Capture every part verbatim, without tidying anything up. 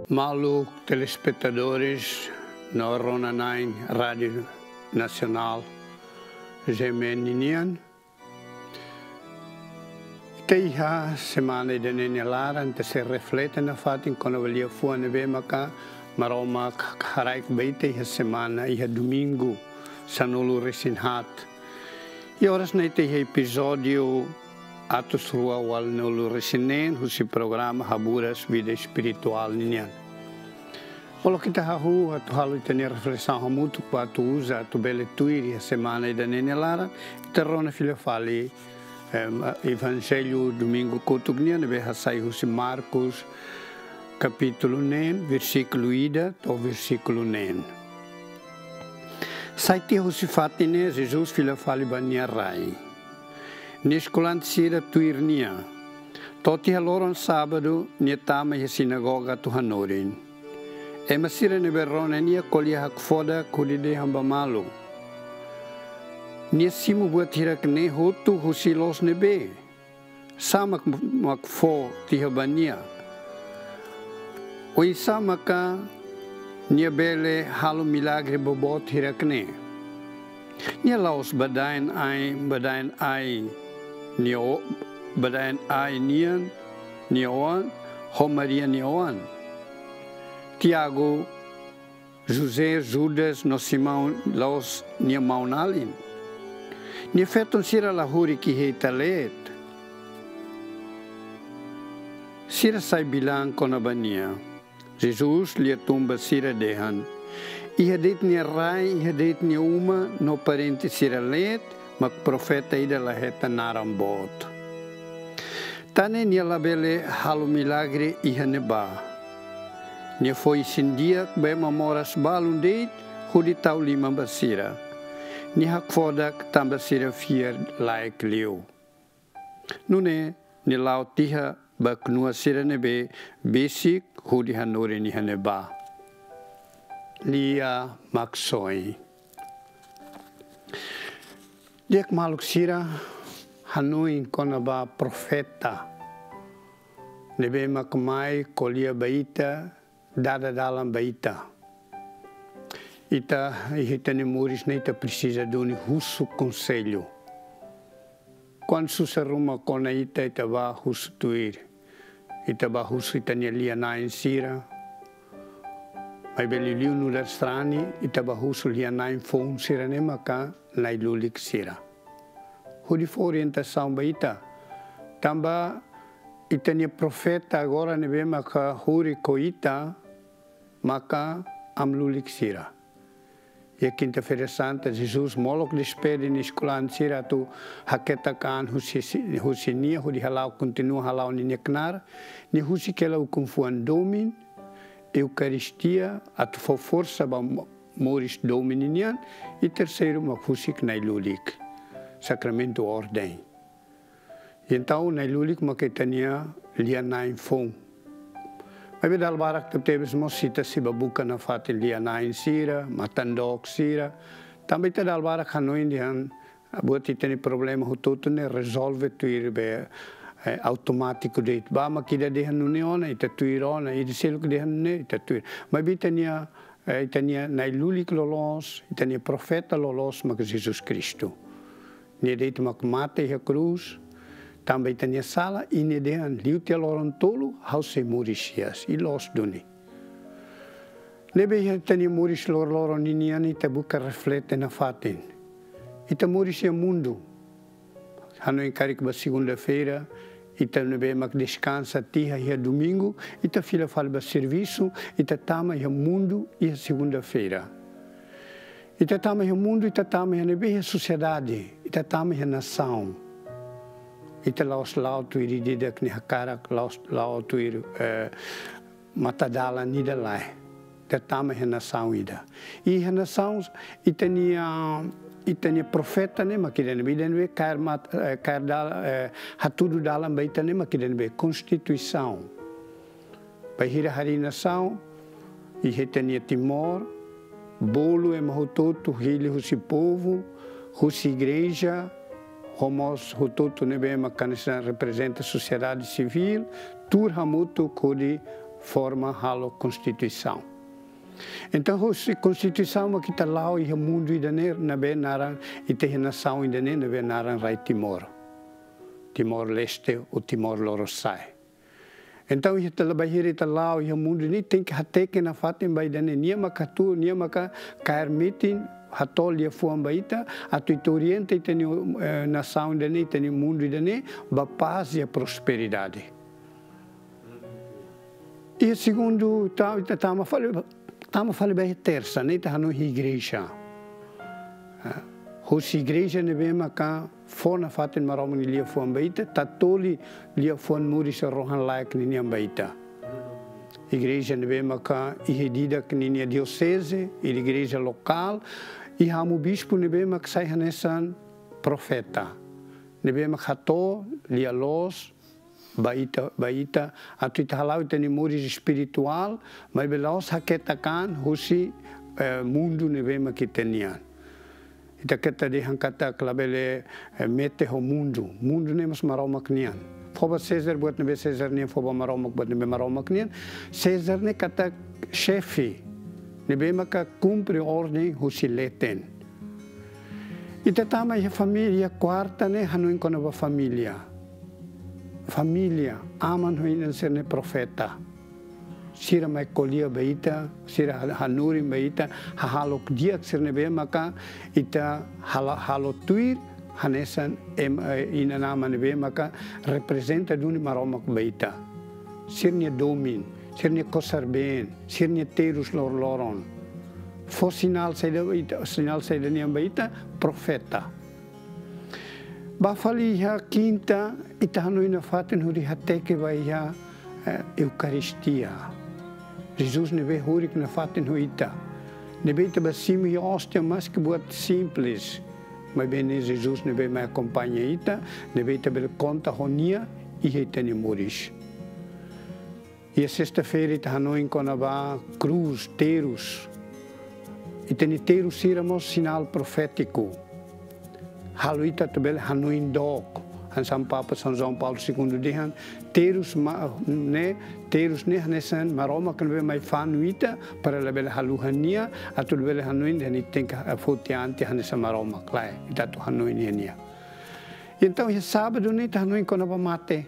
Maluk telespetadores no rona-na'in Rádiu Nasionál G M N nian. Ita iha semana ida-ne'e nia laran, ita sei reflete nafatin kona-ba liafuan ne'ebé maka Maromak haraik ba ita iha semana, iha domingu sanulu-resin-haat. I oras ne'e ita iha epizódiu atus rua ualunulu-resin-neen husi programa Haburas Vida Espirituál nian. Molok ita hahú atu halo ita-nia reflesaun hamutuk ba atu uza atu bele tuir iha semana ida-ne'e nia laran, ita rona fila fali, em, Evanjellu domingu kotuk nian ne'ebé hasai husi Marcos, kapítulu neen, versíkulu ida to'o versíkulu neen. Sai tiha husi fatin ne'e, Jesus fila fali ba nia rai. Nia eskolante sira tuir nia. To'o tiha loron sábadu, nia tama iha sinagoga atu hanorin. Ema sira ne'ebé rona nia ko'alia hakfodak hodi dehan ba malu: Nia simu buat hirak-ne'e hotu husi loos ne'ebé? Sá mak, mak fó tiha ba nia? Oinsá maka nia bele halo milagre boboot hirak-ne'e? Nia la'ós badaen ai, badaen ai nia o-, badaen ai nian nia oan, ho Maria nia oan? Tiago, José, Judas no Simão la'ós nia maun-alin? Nia feton sira la hurik iha ita leet? Sira sai bilan kona-ba nia. Jesus lia tun ba sira dehan: Iha de'it nia rai, iha de'it nia uma no parente sira leet, mak profeta ida la hetan naran boot. Tan ne'e nia labele halo milagre iha ne'ebá. Nia fó isin-di'ak ba ema moras balun de'it hodi tau liman ba sira. Nia hakfodak tanba sira fiar-laek liu. Nune'e nia la'o tiha ba knua sira ne'ebé besik hodi hanorin iha ne'ebá. Lia Maksoin. Di'ak maluk sira, hanoin kona-ba profeta ne'ebé mak mai ko'alia ba ita, dada dalan ba ita. Ita, iha ita-nia moris ne'e ita presiza duni husu konsellu. Kuandu susar ruma kona ita, ita bá husu tuir. Ita bá husu ita-nia lia-na'in sira. Maibé liuliu nu'udar sarani, ita bá husu lia-na'in foun sira ne'e maka na'i-lulik sira. Hodi fó orientasaun ba ita. Tanba ita-nia profeta agora ne'ebé maka hurik ho ita, maka aman-lulik sira. Iha Kinta-feira Santa, Jesus molok despede nia eskolante sira atu haketak an husi, husi nia hodi hala'o, kontinua hala'o ninia knaar. Nia husik hela ukun-fuan domin, Eukaristia, atu fó forsa ba mo-, moris domin nian, i terseiru mak husik na'i-lulik, sakramentu orden. Entaun na'i-lulik maka ita-nia lia-na'in foun. Maibé dala barak tebetebes mós ita sei bá buka nafatin lia-na'in sira, matan-dook sira. Tanba ita dala barak hanoin dehan buat ita-nia problema hotu-hotu ne'e rezolve tuir be, eh, automátiku de'it. Bá mak ida dehan nune'e ona, ita tuir ona, ida seluk dehan nune'e, ita tuir. Maibé ita-nia, eh, ita-nia na'i-lulik loloos, ita-nia profeta loloos maka Jesus Kristu. Nia de'it mak mate iha krús tanba ita-nia sala, i nia dehan liu tiha loron tolu ha'u sei moris hi'as, i loos duni. Ne'ebé iha ita-nia moris loroloron ninian ita buka reflete nafatin. Ita moris iha mundu. Hanoin karik ba segunda-feira, ita ne'ebé mak deskansa tiha iha domingu, ita fila fali ba servisu, ita tama iha mundu iha segunda-feira. Ita tama iha mundu, ita tama iha ne'ebé, iha sosiedade, ita tama iha nasaun. Ita la'ós la'o tuir ida-idak nia hakarak, la'ós la'o tuir, eh, matadalan ida, lae. Ita tama iha nasaun ida. I iha nasaun, ita-nia, ita-nia profeta ne'e mak ida ne'ebé, ida ne'ebé kaer mat-, eh, kaer dal-, eh, hatudu dalan ba ita ne'e mak ida ne'ebé, konstituisaun. Bainhira harii nasaun, iha ita-nia Timor, bolu ema hotu-hotu, hili husi povu, husi igreja, ho mós hotu-hotu ne'ebé mak hanesan reprezenta sosiedade sivíl, tuur hamutuk hodi forma halo konstituisaun. Entaun, husi konstituisaun mak ita la'o iha mundu ida-ne'e ne'ebé naran, ita iha nasaun ida-ne'e ne'ebé naran rai Timor. Timor-Leste ou Timor Lorosa'e. Entaun, ita la bainhira ita la'o iha mundu ne'e, tenke hateke nafatin ba ida-ne'e, nia maka hatuur, nia maka kaer metin, hato'o liafuan ba ita, atu ita orienta ita-nia, eh, nasaun ida-ne'e, ita-nia mundu ida-ne'e ba pás i prosperidade. Iha segundu, ta-, ita tama fali, tama fali ba iha tersa, ne'e ita hanoin igreja. Ah, husi igreja ne'ebé maka fó nafatin Maromak nia liafuan ba ita, tatoli liafuan moris rohan-laek ninian ba ita. Igreja ne'ebé maka iha ida-idak ninia dioseze, igreja lokál, iha amu bispu ne'ebé mak sai hanesan profeta. Ne'ebé mak hato'o lia-loos ba ita, ba ita, atu ita hala'o ita-nia moris espirituál, maibé la'ós haketak an husi, eh, mundu ne'ebé mak ita nian. Ita keta dehan katak labele, eh, mete ho mundu. Mundu ne'e mós Maromak nian. Fó ba César buat ne'ebé César nian, fó ba Maromak buat ne'ebé Maromak nian. César ne'e katak xefe ne'ebé maka kumpre orden husi leten. Ita tama iha família, kuarta ne'e hanoin kona-ba família. Família, aman ho inan sira-ne'e profeta. Sira mai ko'alia ba ita, sira ha-, hanorin ba ita, hahalok di'ak sira ne'ebé maka ita hala-, halo tuir, hanesan em-, eh, inan-aman ne'ebé maka reprezenta duni Maromak ba ita. Sira-nia domin, sira-nia kosar-been, sira-nia terus loroloron. Fó sinál saida, ita, sinál saida nian ba ita, profeta. Ba fali iha kinta, ita hanoin nafatin hodi hateke ba iha, eh, Eukaristia. Jesus ne'ebé hurik nafatin ho ita. Ne'ebé ita bá simu iha óstia maski buat simples. Maibé ne'e Jesus ne'ebé mai akompaña ita, ne'ebé ita bele konta ho nia iha ita-nia moris. Iha sesta-feira ita hanoin kona-ba krús, terus. Ita-nia terus sira mós sinál profétiku. Halo ita atu bele hanoin dook. Hanesan Papa São João Paulo Segundo dehan, terus ma-, ne'e, terus ne'e hanesan Maromak ne'ebé mai fanu ita, para labele haluha nia, atu labele hanoin dehan ita tenke foti an tiha hanesan Maromak, lae, ita atu hanoin iha nia. Entaun, iha sábadu ne'e ita hanoin kona-ba mate.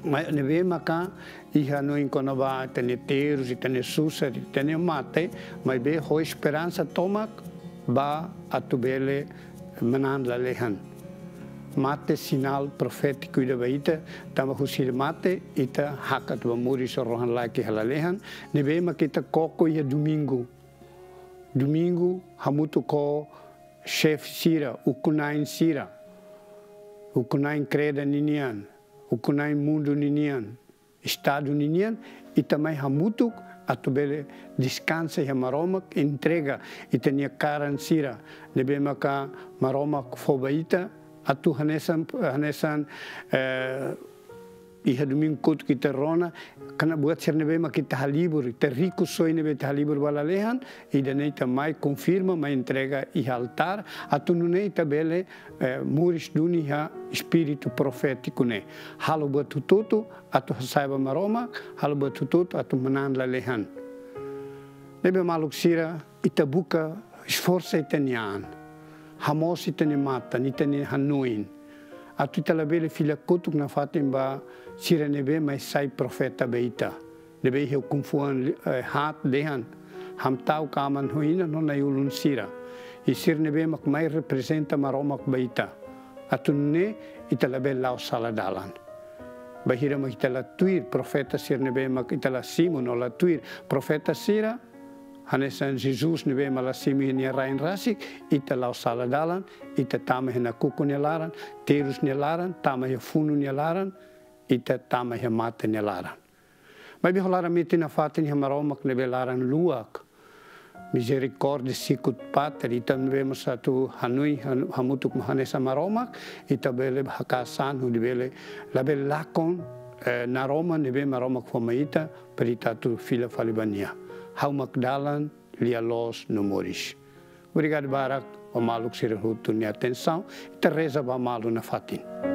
Maibé ne'ebé maka ita hanoin kona-ba ita-nia terus, ita-nia susar, ita-nia mate, maibé ho esperansa tomak ba atu bele manán lalehan. Mate sinál profétiku ida ba ita, tanba husi mate ita hakat ba moris rohan-laek iha lalehan, ne'ebé maka ita koko iha domingu. Domingu hamutuk ho xefe sira, ukun-na'in sira. Ukun-na'in kreda ninian, ukun-na'in mundu ninian, estadu ninian, ita mai hamutuk atu bele deskansa iha Maromak, entrega ita-nia karan sira ne'ebé maka Maromak fó ba ita, atu hanesan, hanesan, eh, iha domingu kotuk ita rona, kona-ba buat sira ne'ebé maka ita halibur, ita rikusoin ne'ebé ita halibur ba lalehan, ida-ne'e ita mai konfirma, mai entrega iha altár, atu nune'e ita bele, eh, moris duni iha espíritu profétiku ne'e. Halo buat hotu-hotu atu hasa'e ba Maromak, halo buat hotu-hotu atu manán lalehan. Ne'ebé maluk sira, ita buka esforsa ita-nia an. Hamoos ita-nia matan, ita-nia hanoin. Atu ita labele fila kotuk nafatin ba sira ne'ebé mai sai profeta ba ita. Ne'ebé iha ukun-fuan, eh, haat dehan, hamta'uk aman ho inan no na'i-ulun sira. I sira ne'ebé mak mai reprezenta Maromak ba ita. Atu nune'e ita labele la'o sala dalan. Bainhira mak ita la tuir profeta sira ne'ebé mak ita la simu no la tuir profeta sira, hanesan Jesus ne'ebé mak la simu iha nia rain rasik, ita la'o sala dalan, ita tama iha nakukun nia laran, terus nia laran, tama iha funu nia laran, ita tama iha mate nia laran. Maibé ho laran metin nafatin iha Maromak ne'ebé laran-luak, mizerikórdia, sicut pater, ita ne'ebé mós atu hanoin, hanu-, hamutuk hanesan Maromak, ita bele haka'as an hodi bele, labele lakon, eh, naroman ne'ebé Maromak fó mai ita, para ita atu fila fali ba nia. Ha'u mak dalan, lia-loos no moris. Obrigadu barak ba maluk sira hotu nia atensaun, ita reza ba malu nafatin.